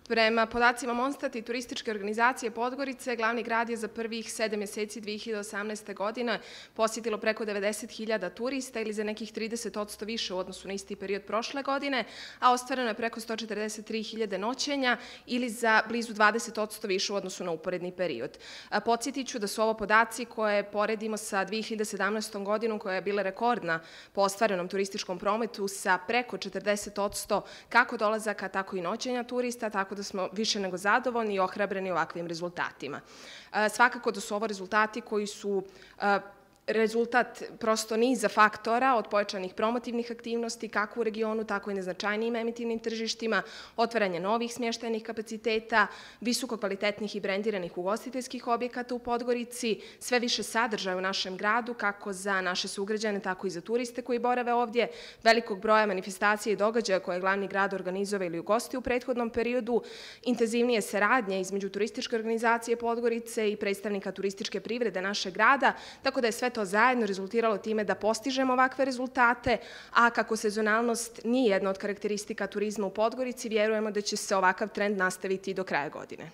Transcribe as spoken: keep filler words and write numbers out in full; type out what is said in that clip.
Prema podacima Monstat i turističke organizacije Podgorice, glavni grad je za prvih sedam mjeseci dve hiljade osamnaeste. godine posjetilo preko devedeset hiljada turista ili za nekih trideset posto više u odnosu na isti period prošle godine, a ostvareno je preko sto četrdeset tri hiljade noćenja ili za blizu dvadeset posto više u odnosu na uporedni period. Podsjetit ću da su ovo podaci koje poredimo sa dve hiljade sedamnaestom. godinom koja je bila rekordna po ostvarenom turističkom prometu sa preko četrdeset posto kako dolazaka, tako i noćenja turista, tako da smo više nego zadovoljni i ohrabreni ovakvim rezultatima. Svakako da su ovo rezultati koji su rezultat prosto niza faktora od pojačanih promotivnih aktivnosti kako u regionu, tako i na značajnijim emitivnim tržištima, otvaranje novih smještajnih kapaciteta, visoko kvalitetnih i brendiranih ugostiteljskih objekata u Podgorici, sve više sadržaja u našem gradu, kako za naše sugrađane, tako i za turiste koji borave ovdje, velikog broja manifestacija i događaja koje je glavni grad organizovao ili ugosti u prethodnom periodu, intenzivnije saradnje između turističke organizacije Podgorice i predstavnika turističke privrede našeg grada, tako da je sve to zajedno rezultiralo time da postižemo ovakve rezultate, a kako sezonalnost nije jedna od karakteristika turizma u Podgorici, vjerujemo da će se ovakav trend nastaviti do kraja godine.